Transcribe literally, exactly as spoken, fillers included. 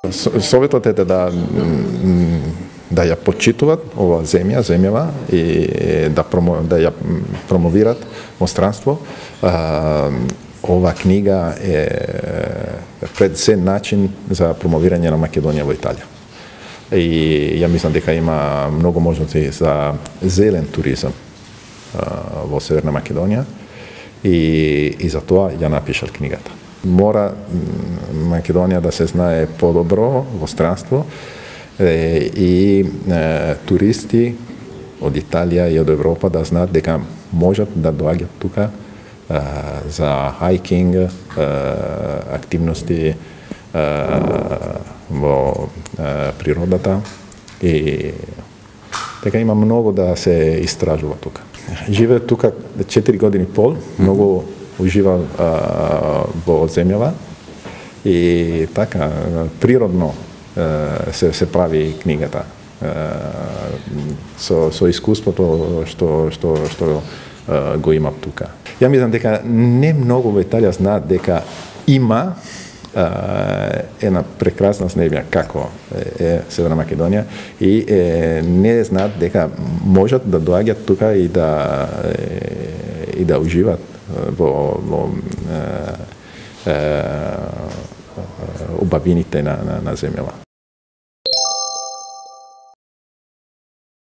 Советот е да да ја почитуваат ова земја, земјава и да промо, да ја промовираат во странство. Ова книга е пред се начин за промовирање на Македонија во Италија. И ја мислам дека има многу можности за зелен туризам во Северна Македонија и, и за тоа ја напишал книгата. Мора Македонија да се знае подобро во странство и е, туристи од Италија и од Европа да знаат дека можат да доаѓат тука е, за хайкинг, е, активности е, во е, природата и дека има многу да се истражува тука. Живеат тука четири години и пол, многу ужива во земјава и така природно се се прави книгата со со искуството што што што го има тука. Ја мислам дека не многу во Италија знаат дека има една прекрасна земја како е Северна Македонија и е, не знаат дека можат да доаѓат тука и да и да уживаат во, во е, е, убавините на, на, на земјава.